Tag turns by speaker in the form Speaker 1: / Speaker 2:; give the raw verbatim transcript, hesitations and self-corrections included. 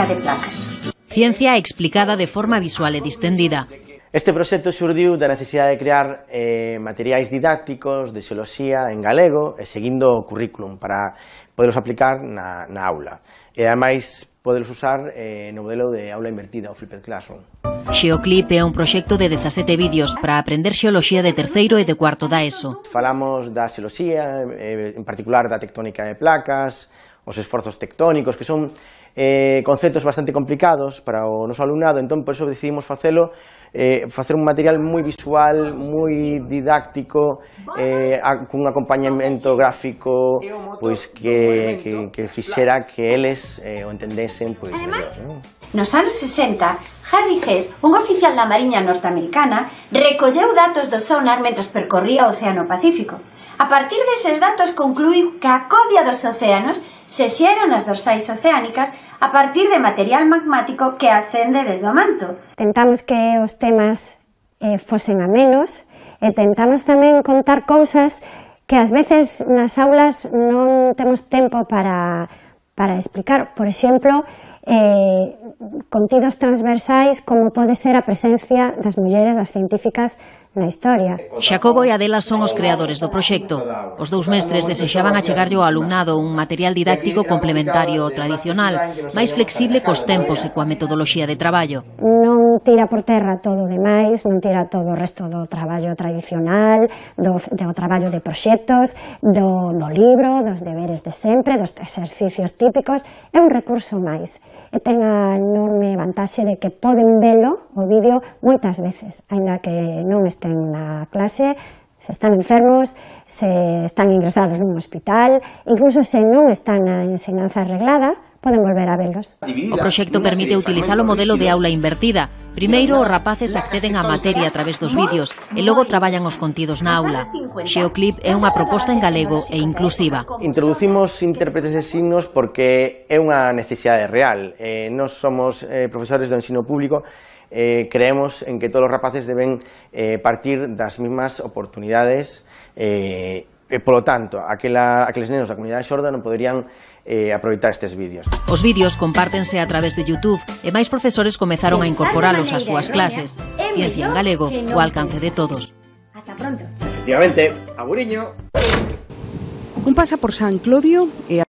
Speaker 1: de placas.
Speaker 2: Ciencia explicada de forma visual e distendida.
Speaker 3: Este proxecto xurdiu da necesidade de crear eh, materiais didácticos de xeoloxía en galego e seguindo o currículum para poderos aplicar na, na aula. E ademais poderos usar eh, no modelo de aula invertida, o Flipped Classroom.
Speaker 2: Xeoclip é un proxecto de dezasete vídeos para aprender xeoloxía de terceiro e de cuarto da ESO.
Speaker 3: Falamos da xeoloxía, eh, en particular da tectónica de placas, os esforzos tectónicos, que son eh, conceptos bastante complicados para o noso alumnado, entón por eso decidimos facelo, eh, facer un material moi visual, moi didáctico, eh, a, cun acompañamento gráfico, pois que, que, que fixera que eles eh, o entendesen pois mellor, non?
Speaker 1: Nos anos sesenta, Harry Hess, un oficial da Mariña norteamericana, recolleu datos do sonar mentres percorría o Océano Pacífico. A partir deses datos concluiu que a codia dos océanos se xeran as dorsais oceánicas a partir de material magmático que ascende desde o manto.
Speaker 4: Tentamos que os temas eh, fosen amenos e tentamos tamén contar cousas que ás veces nas aulas non temos tempo para, para explicar. Por exemplo, eh, contidos transversais como pode ser a presencia das mulleres, das científicas na historia.
Speaker 2: Xacobo e Adela son os creadores do proxecto. Os dous mestres desexaban achegarlle ao alumnado un material didáctico complementario ao tradicional, máis flexible cos tempos e coa metodoloxía de traballo.
Speaker 4: Non tira por terra todo o demais, non tira todo o resto do traballo tradicional, do, do traballo de proxectos, do, do libro, dos deberes de sempre, dos exercicios típicos. É un recurso máis. E ten a enorme vantaxe de que poden velo o vídeo moitas veces, aínda que non estén na clase, se están enfermos, se están ingresados nun hospital, incluso se non están na enseñanza reglada, poden volver a velos.
Speaker 2: O proxecto permite utilizar o modelo de aula invertida. Primeiro, os rapaces acceden á materia a través dos vídeos e logo traballan os contidos na aula. Xeoclip é unha proposta en galego e inclusiva.
Speaker 3: Introducimos intérpretes de signos porque é unha necesidade real. Eh, nós somos eh, profesores do ensino público, eh, creemos en que todos os rapaces deben eh, partir das mismas oportunidades eh, e, polo tanto, aquela, aqueles nenos da comunidade xorda non poderían eh, aproveitar estes vídeos.
Speaker 2: Os vídeos compártense a través de YouTube e máis profesores comezaron a incorporalos ás súas clases. Ciencia en galego, o alcance de todos.
Speaker 1: Ata pronto.
Speaker 3: Efectivamente, aburiño.
Speaker 5: Un pasa por San Clodio e